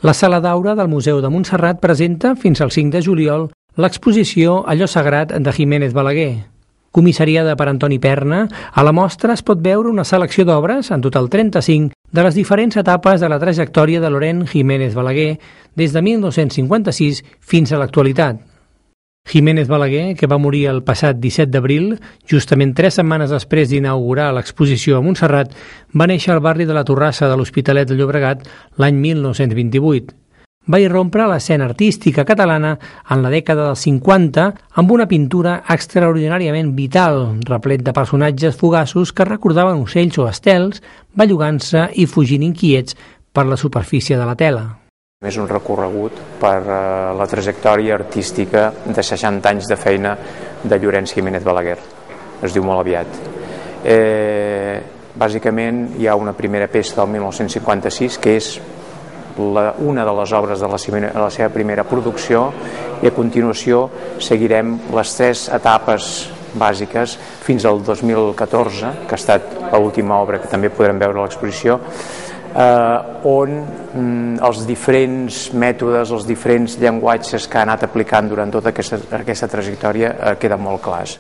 La Sala d'Aura del Museu de Montserrat presenta, fins al 5 de juliol, l'exposició Allò sagrat de Jiménez Balaguer. Comissariada per Antoni Perna, a la mostra es pot veure una selecció d'obres, en total 35, de les diferents etapes de la trajectòria de Laurent Jiménez Balaguer, des de 1956 fins a l'actualitat. Jiménez Balaguer, que va morir el passat 17 d'abril, justament 3 setmanes després d'inaugurar l'exposició a Montserrat, va néixer al barri de la Torrassa de l'Hospitalet de Llobregat l'any 1928. Va irrompre a l'escena artística catalana en la dècada dels 50 amb una pintura extraordinàriament vital, replet de personatges fugaços que recordaven ocells o estels, bellugant-se i fugint inquiets per la superfície de la tela. És un recorregut per la trajectòria artística de 60 anys de feina de Llorenç Jiménez Balaguer. Es diu molt aviat. Bàsicament hi ha una primera peça del 1956 que és una de les obres de la seva primera producció, i a continuació seguirem les 3 etapes bàsiques fins al 2014, que ha estat l'última obra que també podrem veure a l'exposició, on els diferents mètodes, els diferents llenguatges que ha anat aplicant durant tota aquesta trajectòria queden molt clars.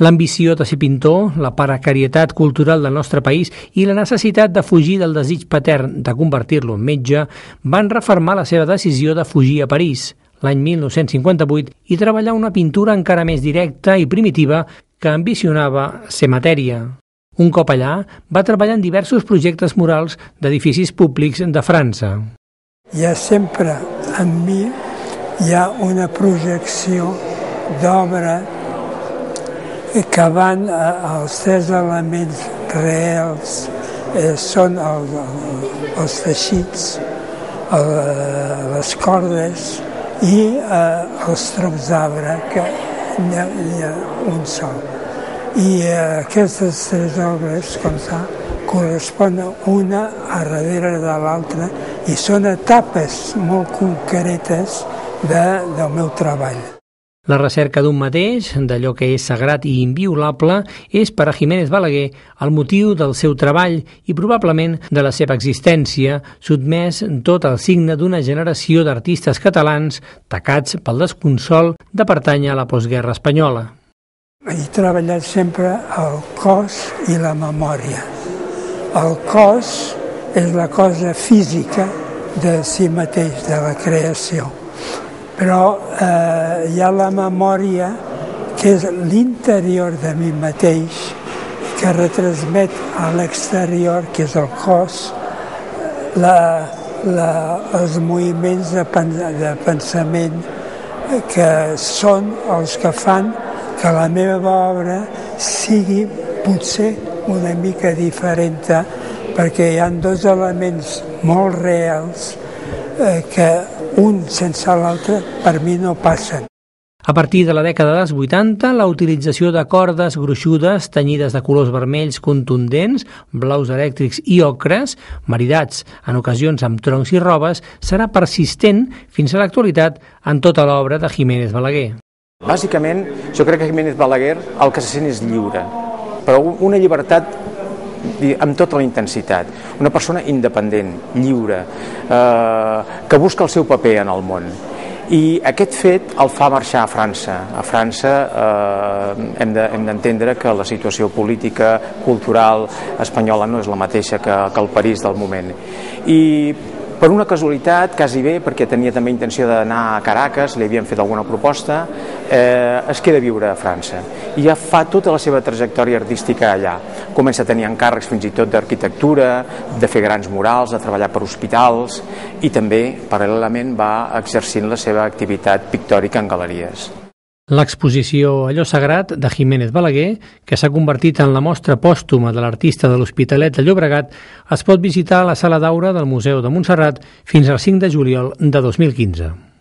L'ambició de ser pintor, la precarietat cultural del nostre país i la necessitat de fugir del desig patern de convertir-lo en metge van refermar la seva decisió de fugir a París l'any 1958 i treballar una pintura encara més directa i primitiva que ambicionava ser matèria. Un cop allà, va treballar en diversos projectes murals d'edificis públics de França. Hi ha sempre, en mi, hi ha una projecció d'obra que van als 3 elements reals, són els teixits, les cordes i els troncs d'arbre, que n'hi ha un sol. I aquestes 3 obres, com ça, corresponen una a darrere de l'altra i són etapes molt concretes del meu treball. La recerca d'un mateix, d'allò que és sagrat i inviolable, és per a Jiménez Balaguer el motiu del seu treball i probablement de la seva existència, sotmès tot al signe d'una generació d'artistes catalans tacats pel desconsol de pertànyer a la postguerra espanyola. He treballat sempre el cos i la memòria. El cos és la cosa física de si mateix, de la creació. Però hi ha la memòria, que és l'interior de mi mateix, que retransmet a l'exterior, que és el cos, els moviments de pensament que són els que fan que la meva obra sigui potser una mica diferent, perquè hi ha 2 elements molt reals que un sense l'altre per mi no passen. A partir de la dècada dels 80, la utilització de cordes gruixudes tenyides de colors vermells contundents, blaus elèctrics i ocres, maridats en ocasions amb troncs i robes, serà persistent fins a l'actualitat en tota l'obra de Jiménez Balaguer. Bàsicament, jo crec que Jiménez Balaguer el que se sent és lliure, però una llibertat amb tota la intensitat. Una persona independent, lliure, que busca el seu paper en el món. I aquest fet el fa marxar a França. A França hem d'entendre que la situació política, cultural espanyola no és la mateixa que el París del moment. I per una casualitat, quasi bé, perquè tenia també intenció d'anar a Caracas, li havien fet alguna proposta, es queda a viure a França. I ja fa tota la seva trajectòria artística allà. Comença a tenir encàrrecs fins i tot d'arquitectura, de fer grans murals, de treballar per hospitals, i també, paral·lelament, va exercint la seva activitat pictòrica en galeries. L'exposició Allò sagrat de Jiménez Balaguer, que s'ha convertit en la mostra pòstuma de l'artista de l'Hospitalet de Llobregat, es pot visitar a la Sala d'Aura del Museu de Montserrat fins al 5 de juliol de 2015.